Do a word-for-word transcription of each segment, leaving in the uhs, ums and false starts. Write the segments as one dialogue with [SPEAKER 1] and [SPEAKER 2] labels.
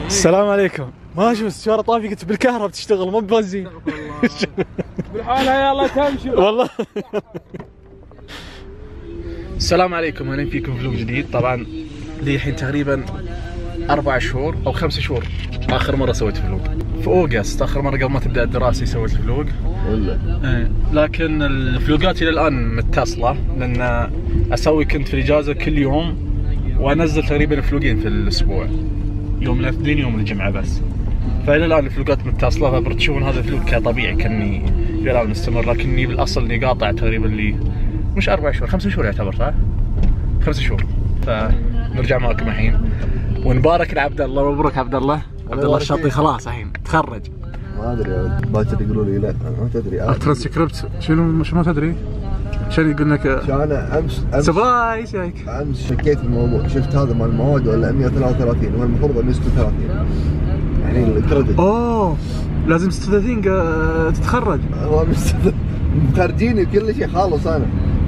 [SPEAKER 1] السلام عليكم. ما اشوف السيارة طافية قلت بالكهرباء بتشتغل مو ببنزين.
[SPEAKER 2] بالحالة يلا تمشي
[SPEAKER 1] والله. السلام عليكم، اهلا فيكم في فلوق جديد. طبعا لي الحين تقريبا اربع شهور او خمس شهور اخر مرة سويت فلوق في اوغست، اخر مرة قبل ما تبدا الدراسة سويت فلوق.
[SPEAKER 3] ولا
[SPEAKER 1] ايه لكن الفلوقات الى الان متصلة لان اسوي كنت في الاجازة كل يوم وانزل تقريبا فلوقين في الاسبوع، يوم الاثنين يوم الجمعة بس. فإلى الآن الفلوقات متصلة، فبتشوفون هذا الفلوق كطبيعي كأني إلى الآن مستمر، لكني بالأصل إني قاطع تقريبا لي مش أربع شهور، خمس شهور يعتبر صح؟ خمس شهور. فنرجع معكم الحين ونبارك لعبد الله. مبروك عبد الله. عبد الله الشاطي خلاص الحين تخرج.
[SPEAKER 3] ما أدري باكر يقولوا لي لا ما تدري.
[SPEAKER 1] ترانسكريبت شنو شنو ما تدري؟ شنو يقول لك؟
[SPEAKER 3] أنا أمس أمس
[SPEAKER 1] سبرايز هيك.
[SPEAKER 3] أمس شكيت في الموضوع، شفت هذا مال المواد ولا مئة وثلاثة وثلاثين والمفروض أنه ستة وثلاثين. يعني الكريدت.
[SPEAKER 1] اوه لازم ستة وثلاثين تتخرج.
[SPEAKER 3] هو مخرجيني كل شيء خالص انا،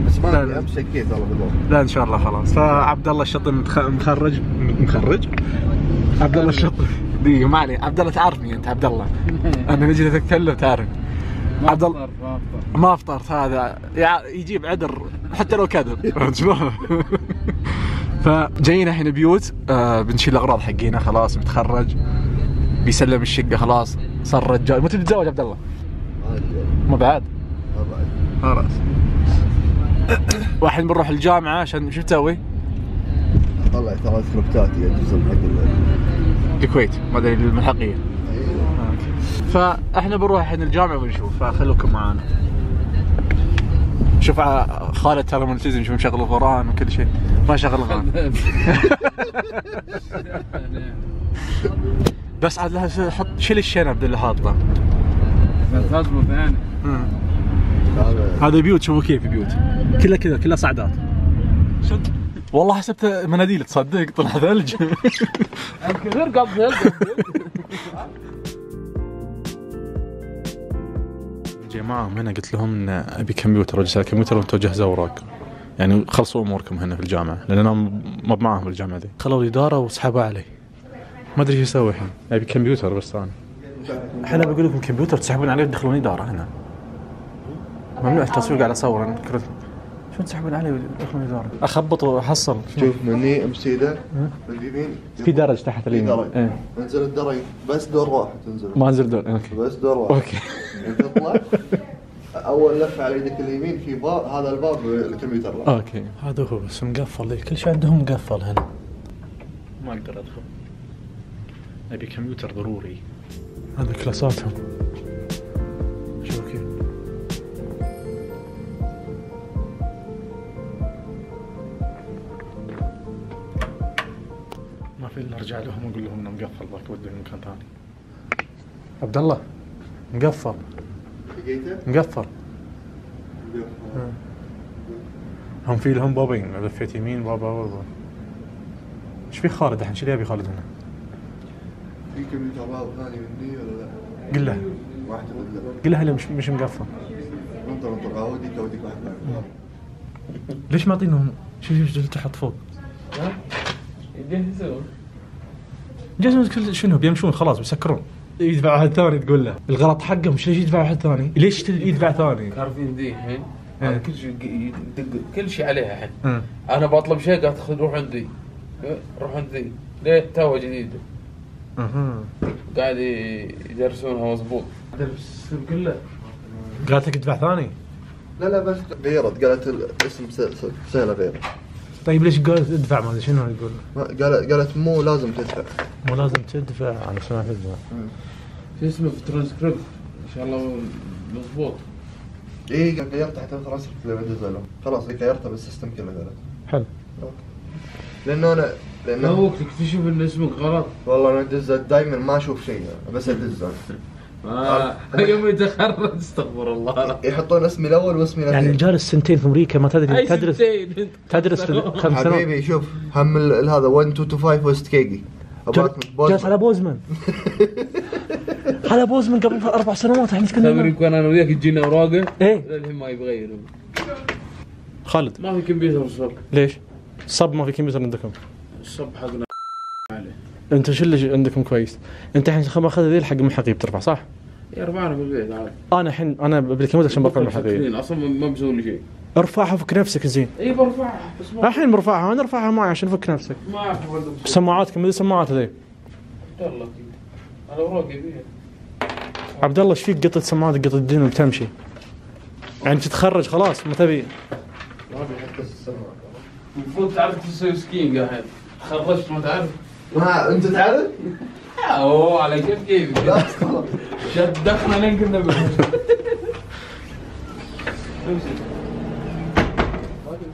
[SPEAKER 3] بس ما ادري امس شكيت والله بالضبط.
[SPEAKER 1] لا ان شاء الله خلاص. فعبد الله الشطي مخرج مخرج عبد الله الشطي دقيقة ما علي. عبد الله تعرفني انت عبد الله، انا نجي نتكلم تعرف. عبد الله ما افطرت، هذا يجيب عذر حتى لو كذب. فجايين الحين بيوت، آه بنشيل الاغراض حقينا خلاص، بتخرج بيسلم الشقة خلاص، صار رجال. متى تتزوج عبد الله؟
[SPEAKER 3] ما ادري
[SPEAKER 1] ما بعد؟
[SPEAKER 3] ما بعد
[SPEAKER 1] خلاص. واحد بنروح الجامعة عشان شو تسوي؟
[SPEAKER 3] طلع ثلاث كروبتات يجوزون حق
[SPEAKER 1] الكويت ما ادري الملحقية. فاحنا بنروح الحين الجامعة ونشوف، فخلوكم معانا. شوف خالد ترى ملتزم، شوف مشغل القرآن وكل شيء، ما شغل القرآن. بس عاد لها حط شيل الشنب اللي حاطه.
[SPEAKER 2] بس اصبر ثاني.
[SPEAKER 1] هذا بيوت، شوفوا كيف بيوت كلها كذا كلها صعدات. شد والله حسبت مناديل تصدق طلع ثلج.
[SPEAKER 2] الكثير قبل
[SPEAKER 1] جماعة هنا قلت لهم ان ابي كمبيوتر، رجال كمبيوتر وانتم جهزوا اوراق، يعني خلصوا اموركم هنا في الجامعة لان انا ما معاهم في الجامعة دي. خلوا الادارة وسحبوا علي، ما ادري ايش اسوي الحين. ابي كمبيوتر بس انا. احنا بقول لكم كمبيوتر تسحبون عليه وتدخلون اداره هنا. ممنوع التصوير قاعد اصور انا كرت. شو تسحبون عليه وتدخلون اداره؟ اخبط واحصل.
[SPEAKER 3] شوف مني امشي ذا باليمين
[SPEAKER 1] في درج تحت اليمين.
[SPEAKER 3] ايه انزل الدرج بس دور واحد تنزل.
[SPEAKER 1] ما انزل دور. اوكي
[SPEAKER 3] بس دور واحد.
[SPEAKER 1] اوكي.
[SPEAKER 3] تطلع اول لفه على يدك اليمين في باب، هذا الباب الكمبيوتر.
[SPEAKER 1] اوكي هذا هو بس مقفل، كل شيء عندهم مقفل هنا، ما اقدر ادخل. ابي كمبيوتر ضروري. هذا كلاساتهم شوف كيف. ما في الا ارجع لهم واقول لهم انه مقفل، ذاك ودوني مكان ثاني. عبد الله مقفل.
[SPEAKER 3] لقيته؟
[SPEAKER 1] مقفل. هم في لهم بابين، لفيت يمين بابا بابا. ايش في خالد الحين؟ شو يبي خالد هنا؟
[SPEAKER 3] في كمبيوتر باب ثاني مني ولا لا؟
[SPEAKER 1] قل له.
[SPEAKER 3] واحد ولا
[SPEAKER 1] قل له مش مش مقفل.
[SPEAKER 3] انطر انطر اوديك اوديك واحد ثاني.
[SPEAKER 1] ليش ما اعطينهم شوف شوف تحت فوق؟
[SPEAKER 2] ها؟ يجهزون.
[SPEAKER 1] جهزون شنو بيمشون خلاص بيسكرون. يدفع واحد ثاني تقول له الغلط حقهم، ليش يدفع واحد ثاني؟ ليش يدفع ثاني؟
[SPEAKER 2] عارفين ذي الحين؟
[SPEAKER 1] إيه.
[SPEAKER 2] كل شيء يدق كل شيء عليها الحين. انا بطلب شيء قالت خذ روح عندي. روح عندي. ليه تو جديده.
[SPEAKER 1] اها
[SPEAKER 2] قاعد يدرسونها مضبوط.
[SPEAKER 1] درس قل له. قالت لك ادفع ثاني؟
[SPEAKER 3] لا لا بس غيرت، قالت الاسم سهله غير.
[SPEAKER 1] طيب ليش قالت ادفع؟ ما ادري شنو يقول.
[SPEAKER 3] قالت قالت مو لازم تدفع.
[SPEAKER 1] مو لازم تدفع، انا سمعت تدفع.
[SPEAKER 2] شو اسمه في الترانسكريبت ان شاء الله مضبوط.
[SPEAKER 3] اي غيرت حتى الترانسكريبت اللي بنزله خلاص، غيرتها بالسيستم كله قالت.
[SPEAKER 1] حلو.
[SPEAKER 3] لانه انا لانه
[SPEAKER 2] لا وقت تكتشف ان اسمك غلط.
[SPEAKER 3] والله انا ادز دائما ما اشوف شيء بس ادز
[SPEAKER 2] اه يوم يتخرج استغفر الله
[SPEAKER 3] يحطون اسمي الاول واسمي الاخير.
[SPEAKER 1] يعني جالس سنتين في امريكا ما تدري تدرس تدرس خمس سنوات.
[SPEAKER 3] حبيبي شوف هم هذا واحد اثنين ثلاثة خمسة ويست كيجي
[SPEAKER 1] جالس على بوزمان. على بوزمان قبل اربع سنوات احنا كنا
[SPEAKER 2] تدري كنا انا وياك تجينا اوراقه.
[SPEAKER 1] ايه
[SPEAKER 2] للحين ما يبغى يغيروا.
[SPEAKER 1] خالد
[SPEAKER 2] ما في كمبيوتر صار.
[SPEAKER 1] ليش؟ صب ما في كمبيوتر عندكم؟
[SPEAKER 2] الصب حقنا عليه.
[SPEAKER 1] انتم شو اللي عندكم كويس؟ انت الحين خل ماخذ ذي الحق المحقي بترفع صح؟
[SPEAKER 2] يرفعنا في البيت عادي.
[SPEAKER 1] انا الحين انا بالكمود عشان برفع المحقي.
[SPEAKER 2] اصلا ما بسوي لي شيء.
[SPEAKER 1] ارفعها فك نفسك زين.
[SPEAKER 2] اي برفعها بس ما
[SPEAKER 1] الحين برفعها انا ارفعها معي عشان فك نفسك.
[SPEAKER 2] ما اعرف
[SPEAKER 1] سماعاتكم ذي سماعات ذي.
[SPEAKER 2] والله انا اوراقي فيها.
[SPEAKER 1] عبد الله ايش فيك قطة سماعات قطة الدين وبتمشي؟ يعني تتخرج خلاص ما تبي.
[SPEAKER 3] ما في حتى السماعة.
[SPEAKER 2] المفروض تعرف تسوي سكين قاعد. تخرجت ما تعرف؟
[SPEAKER 3] ما انت تعرف؟
[SPEAKER 2] اوه على كيف كيف شد دخنا لين كنا بس.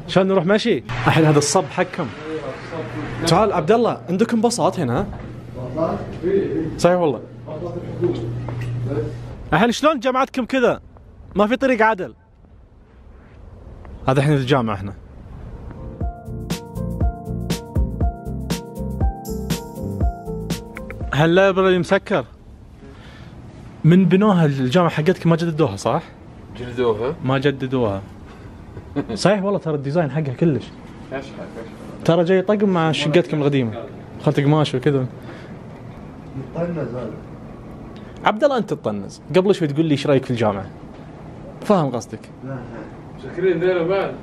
[SPEAKER 1] عشان نروح ماشي الحين هذا الصب حقكم. تعال عبد الله عندكم بساط هنا ها؟ صحيح والله. الحين شلون جامعتكم كذا؟ ما في طريق عدل. هذا الحين الجامعة احنا. هاللايبرري مسكر. من بنوها الجامعة حقتكم ما جددوها صح؟
[SPEAKER 2] جلدوها؟
[SPEAKER 1] ما جددوها. صحيح والله ترى الديزاين حقها كلش. ترى جاي طقم مع شقتكم القديمة. خلت قماش وكذا.
[SPEAKER 3] طنز هذا.
[SPEAKER 1] عبد الله انت تطنز، قبل شوي تقول لي ايش رايك في الجامعة؟ فاهم قصدك؟
[SPEAKER 3] لا لا.
[SPEAKER 2] شاكرين ذيلا بعد.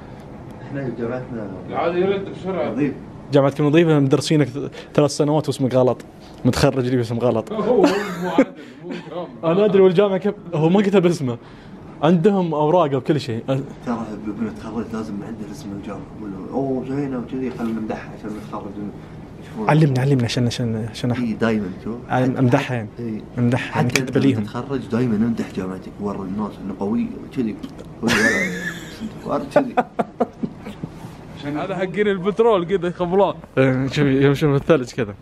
[SPEAKER 3] احنا جامعتنا
[SPEAKER 2] العادي يرد بسرعة.
[SPEAKER 3] نظيف.
[SPEAKER 1] جامعتكم نظيفة مدرسينك ثلاث سنوات واسمك غلط. متخرج لي باسم غلط.
[SPEAKER 2] هو هو مو عادل مو كرام.
[SPEAKER 1] انا ادري والجامعة كيف هو ما كتب اسمه. عندهم اوراق وكل شيء.
[SPEAKER 3] ترى بنتخرج لازم عندنا اسم الجامعة يقولوا اوه زينة وكذي خلينا نمدحها عشان نتخرج.
[SPEAKER 1] علمنا علمنا عشان عشان عشان
[SPEAKER 3] اي دائما شوف
[SPEAKER 1] امدحها يعني امدحها يعني كتب ليهم.
[SPEAKER 3] تتخرج دائما امدح جامعتك ورا الناس انه قوية وكذي ورا كذي.
[SPEAKER 2] عشان هذا حقين البترول كذا خبلان.
[SPEAKER 1] شوف يمشون في الثلج كذا.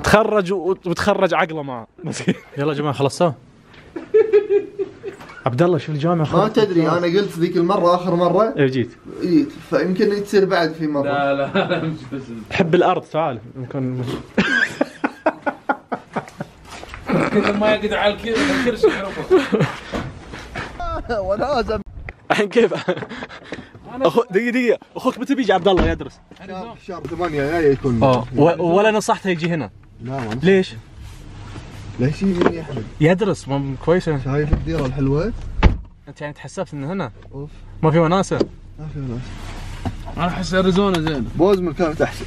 [SPEAKER 1] تخرج وتخرج عقله معه. يلا يا جماعه خلصتوا؟ عبد الله شوف الجامعه.
[SPEAKER 3] ما تدري انا قلت ذيك المره اخر مره.
[SPEAKER 1] ايه جيت.
[SPEAKER 3] جيت فيمكن تصير بعد في مره.
[SPEAKER 2] لا لا لا مش بس.
[SPEAKER 1] حب الارض تعال يمكن.
[SPEAKER 2] كذا ما يقدر على الكرسي يعرفه.
[SPEAKER 3] ولازم.
[SPEAKER 1] الحين كيف؟ اخو دقيقه دقيقه اخوك متى بيجي عبد الله يدرس؟
[SPEAKER 3] شهر ثمانية جاي يكون.
[SPEAKER 1] اه ولا نصحته يجي هنا؟
[SPEAKER 3] لا ما
[SPEAKER 1] ليش؟
[SPEAKER 3] ليش يجي يا احمد؟
[SPEAKER 1] يدرس مو كويس.
[SPEAKER 3] شايف الديره الحلوه؟
[SPEAKER 1] انت يعني تحسبت انه هنا؟
[SPEAKER 3] اوف
[SPEAKER 1] ما في وناسه؟
[SPEAKER 3] ما في وناسه.
[SPEAKER 2] انا احس اريزونا زين.
[SPEAKER 3] بوزمن كانت احسن.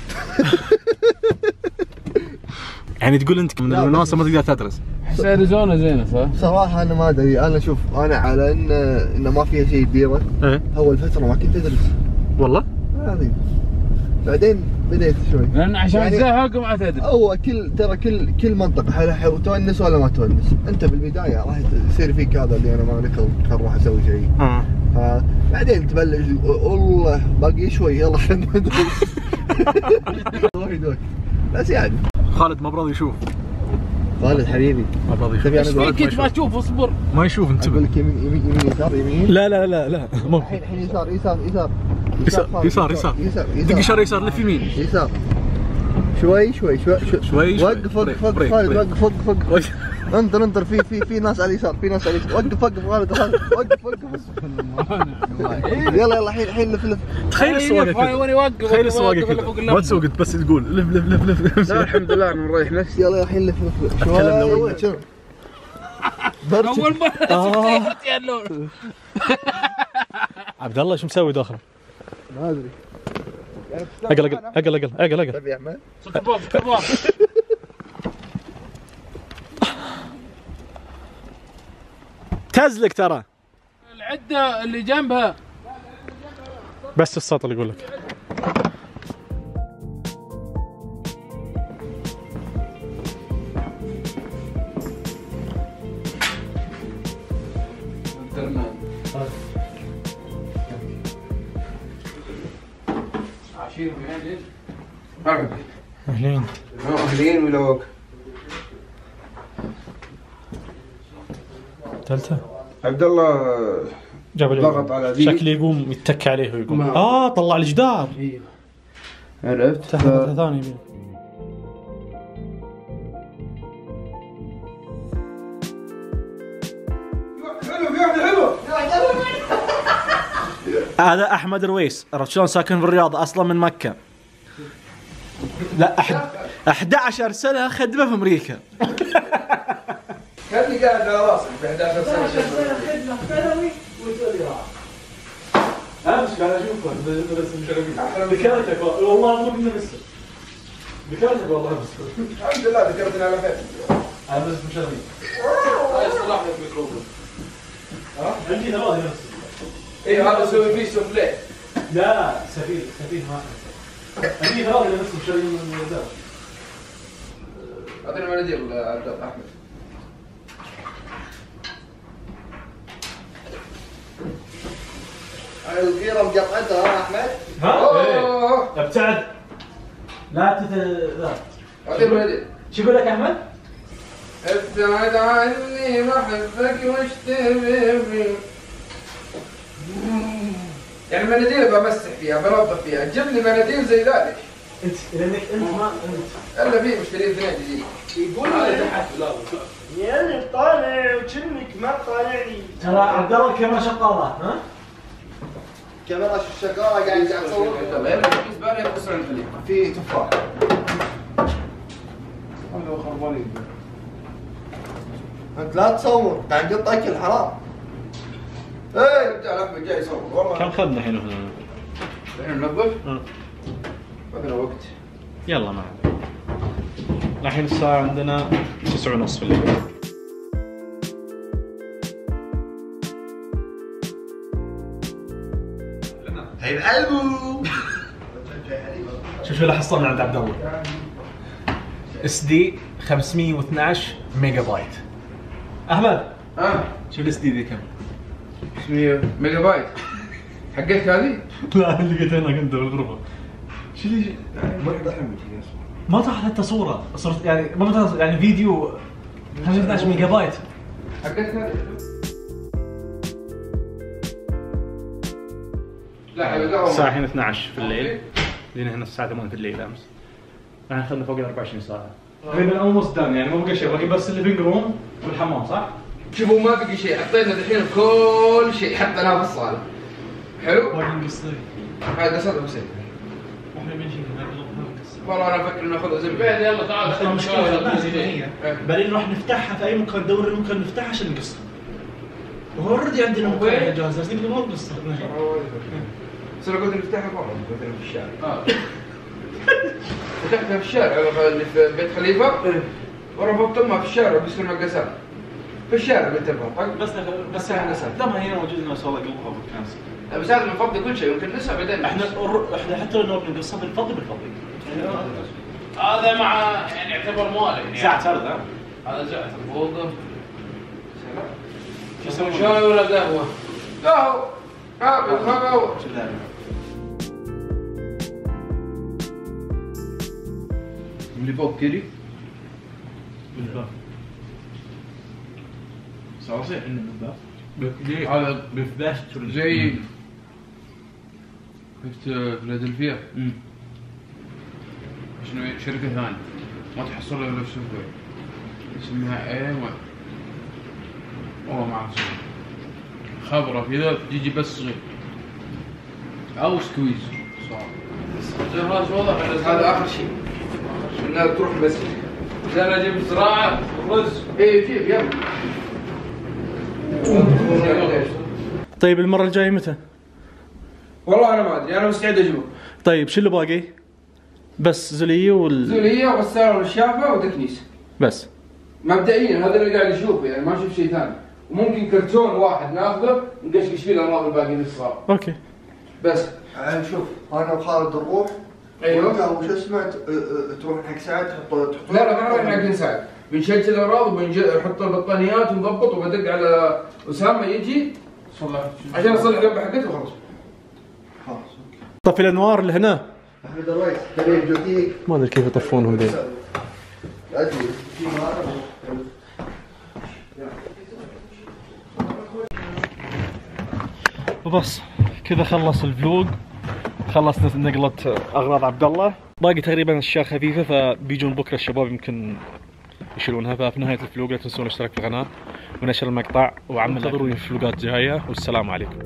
[SPEAKER 1] يعني تقول انت من الوناسه ما تقدر تدرس؟
[SPEAKER 2] احس اريزونا زينه صح؟
[SPEAKER 3] صراحه انا ما ادري. انا شوف انا على ان انه ما فيها شيء ديره.
[SPEAKER 1] ايه
[SPEAKER 3] اول فتره ما كنت ادرس
[SPEAKER 1] والله؟
[SPEAKER 3] عظيم. بعدين بديت شوي
[SPEAKER 2] لان عشان
[SPEAKER 3] يعني
[SPEAKER 2] تزهق ما تدري.
[SPEAKER 3] هو كل ترى كل كل منطقه هل تونس ولا ما تونس. انت بالبدايه راح يصير فيك هذا اللي انا ما نكر راح اسوي شيء.
[SPEAKER 1] اه
[SPEAKER 3] بعدين تبلش والله باقي شوي يلا خلينا ندرس. وايد وقت بس يعني.
[SPEAKER 1] خالد ما براضي يشوف.
[SPEAKER 3] خالد حبيبي
[SPEAKER 1] ما براضي يشوف.
[SPEAKER 3] تبي
[SPEAKER 2] ايش
[SPEAKER 3] انا
[SPEAKER 2] فيك انت ما تشوف اصبر.
[SPEAKER 1] ما يشوف انتبه.
[SPEAKER 3] اقول لك يمين يمين يمين يسار يمين.
[SPEAKER 1] لا لا لا لا مو
[SPEAKER 3] الحين الحين يسار يسار يسار
[SPEAKER 1] يسار يسار يسار
[SPEAKER 3] يسار
[SPEAKER 1] دق يسار يسار لف يمين
[SPEAKER 3] يسار شوي شوي شوي
[SPEAKER 1] شوي
[SPEAKER 3] وقف وقف وقف خالد وقف وقف وقف. انظر انظر في في في ناس على اليسار في ناس على اليسار. وقف وقف خالد خالد وقف وقف. يلا يلا الحين الحين لف لف.
[SPEAKER 1] تخيل السواقه
[SPEAKER 2] وين يوقف
[SPEAKER 1] تخيل السواقه كذا ما تسوق بس تقول لف لف لف لف.
[SPEAKER 2] لا الحمد لله انا مريح نفسي.
[SPEAKER 3] يلا الحين لف لف شوي.
[SPEAKER 2] اول مره يا اللون.
[SPEAKER 1] عبد الله شو مسوي داخل؟
[SPEAKER 3] ما ادري.
[SPEAKER 1] اقل اقل اقل اقل اقل اقل.
[SPEAKER 3] تبي يا احمد؟
[SPEAKER 2] كباب كباب.
[SPEAKER 1] تزلك ترى.
[SPEAKER 2] العده اللي جنبها.
[SPEAKER 1] بس السطر اللي يقول لك.
[SPEAKER 2] عشير بهذه.
[SPEAKER 1] اهلين.
[SPEAKER 2] اهلين ولوك.
[SPEAKER 1] ثالثة.
[SPEAKER 4] عبد الله
[SPEAKER 1] جاب لي
[SPEAKER 4] ضغط على ذي.
[SPEAKER 1] شكلي يقوم يتكى عليه ويقوم. اه طلع الجدار.
[SPEAKER 4] ايوه عرفت.
[SPEAKER 1] تحت ثاني بيه. هذا احمد رويس، عرفت شلون ساكن في الرياض اصلا من مكه. لا أحد أحد عشر سنة خدمة في أمريكا.
[SPEAKER 2] كاني قاعد على راسك ب أحد عشر سنة
[SPEAKER 1] خدمة ثانوي وتولي راح. أمس قاعد أشوفك بس مشغلين. ذكرتك والله مو كنا لسه. ذكرتك والله بس.
[SPEAKER 2] الحمد لله ذكرتني على خير.
[SPEAKER 1] أنا بس مشغلين.
[SPEAKER 2] هاي صلاح لك ميكروفون.
[SPEAKER 1] ها؟ عندي هذا نفسه.
[SPEAKER 2] إيه هذا اسوي فيه سوفليه.
[SPEAKER 1] لا سفيه سفيه ما عندي هذا اللي نفسه مشغلين من الزاوية.
[SPEAKER 2] أعطيني مناديل عبد أحمد.
[SPEAKER 3] الغيرة مقطعتها ها أحمد؟
[SPEAKER 1] ها؟ إيه. ابتعد. لا تت لا.
[SPEAKER 2] أعطيني مناديل.
[SPEAKER 1] شو يقول لك أحمد؟
[SPEAKER 2] ابتعد عني بحبك واشتبه. يعني مناديل بمسح فيها بنظف فيها، جيب لي مناديل زي ذلك.
[SPEAKER 1] انت لانك انت ما انت
[SPEAKER 2] الا في مشترين اثنين جديد.
[SPEAKER 5] يقول لي يا اللي طالع وكنك ما طالعني.
[SPEAKER 1] ترى عبد الله الكاميرا شغاله ها؟
[SPEAKER 3] كاميرا شغالة قاعد قاعد تصور.
[SPEAKER 2] في زباله يخسر الفليم.
[SPEAKER 3] في تفاح.
[SPEAKER 2] هذا هو خربانين.
[SPEAKER 3] أنت لا تصور، قاعد نقط أكل حرام.
[SPEAKER 2] ايه بتاع احمد جاي يصور والله.
[SPEAKER 1] كم خذنا الحين هنا؟
[SPEAKER 2] الحين ننظف؟
[SPEAKER 1] اه
[SPEAKER 2] ما فينا وقت.
[SPEAKER 1] يلا ما عليك. الحين الساعة عندنا تسعة ونص في الليل.
[SPEAKER 3] حبيب قلبو.
[SPEAKER 1] شوف شو اللي حصلنا عند عبد الله. اس دي خمسمية واثناشر ميجا بايت. احمد
[SPEAKER 2] ها؟
[SPEAKER 1] شوف الاس دي ذي كم؟
[SPEAKER 2] خمسمية ميجا بايت. حقتك هذه؟
[SPEAKER 1] لا اللي لقيت هناك انت بالغرفة. شو اللي ما طاحت حتى صورة، صرت يعني ما طاحت يعني فيديو خمسمية واثناشر ميجا بايت.
[SPEAKER 2] حقتك هذه؟ لا حبيبي قهوة.
[SPEAKER 1] الساعة الحين اثناشر في الليل. جينا هنا الساعة ثمانية في الليل امس. الحين اخذنا فوق ال أربعة وعشرين ساعة. تقريبا اولموست دان يعني ما بقى شيء، باقي بس الليفنج روم والحمام صح؟
[SPEAKER 2] شوفوا ما بقي شيء، حطينا الحين كل شيء حطيناه في الصالة. حلو؟
[SPEAKER 1] باقي نقصر.
[SPEAKER 2] هذا قصده بسيط.
[SPEAKER 1] احنا بنجي نقصر.
[SPEAKER 2] والله انا افكر ناخذها زي
[SPEAKER 5] بعد يلا تعال.
[SPEAKER 1] المشكلة بعدين نروح نفتحها في اي مكان، ندور المكان نفتحها عشان نقصر. وهو اوريدي عندنا مكان جاهز بس نقدر ما نقصر.
[SPEAKER 2] بس انا قلت نفتحها برا، قلت في الشارع. اه فتحتها في الشارع اللي في بيت خليفه وربطت امها في الشارع بيصير مقاسات في الشارع بنت البطاق
[SPEAKER 1] بس بس احنا لما هي موجود لنا صار قلبها بالكنسل.
[SPEAKER 2] بس هذا بنفضي كل شيء يمكن نسى بعدين.
[SPEAKER 1] احنا احنا حتى لو بنقصها بنفضي بنفضي.
[SPEAKER 5] هذا مع يعني يعتبر مالك يعني.
[SPEAKER 1] ساعة سرد ها؟
[SPEAKER 5] هذا زعتر فوقه.
[SPEAKER 1] شو يسوون؟
[SPEAKER 5] شاي ولا قهوة؟
[SPEAKER 2] قهوة. قهوة قهوة. اللي فوق كذي
[SPEAKER 1] بالباب.
[SPEAKER 2] صراصير عندنا بالباب.
[SPEAKER 1] هذا بفلاش
[SPEAKER 2] زي شفت فيلادلفيا.
[SPEAKER 1] امم
[SPEAKER 2] شنو شركة ثانية ما تحصل الا في سوق اسمها ايه و... والله ما اعرف خبرة في ذا تجي بس صغير او سكويز صار.
[SPEAKER 5] جهاز واضح
[SPEAKER 2] هذا اخر شيء انها تروح بس
[SPEAKER 5] انا اجيب زراعة رز.
[SPEAKER 2] ايه جيب يلا.
[SPEAKER 1] طيب المرة الجاية متى؟
[SPEAKER 2] والله انا ما ادري انا مستعد اجيبه.
[SPEAKER 1] طيب شو اللي باقي؟ بس زولية وال
[SPEAKER 2] زولية وغسالة والشافة وتكنيس.
[SPEAKER 1] بس
[SPEAKER 2] مبدئيا هذا اللي قاعد اشوفه يعني ما اشوف شيء ثاني. وممكن كرتون واحد ناخذه نقشقش فيه الامراض الباقيين الصغار.
[SPEAKER 1] اوكي.
[SPEAKER 2] بس
[SPEAKER 3] الحين شوف انا وخالد نروح.
[SPEAKER 2] ايوه.
[SPEAKER 3] وش اسمه تروح حق سعد تحط تحط.
[SPEAKER 2] لا لا ما نروح حق سعد. بنشجع الاغراض وبنحط البطانيات ونضبط وبدق على اسامه يجي صلح عشان اصلح جنب حقته وخلاص.
[SPEAKER 3] خلاص.
[SPEAKER 1] طفي الانوار اللي هنا.
[SPEAKER 3] احمد الرئيس تبي جوتيك.
[SPEAKER 1] ما ادري كيف يطفونهم ذي.
[SPEAKER 3] ادري في مره.
[SPEAKER 1] وبس كذا خلص الفلوق، خلص نقلة اغراض عبد الله، باقي تقريبا اشياء خفيفه فبيجون بكره الشباب يمكن يشيلونها. ففي نهايه الفلوق لا تنسون الاشتراك في القناه ونشر المقطع وعمل انتظروني في فلوقات جايه والسلام عليكم.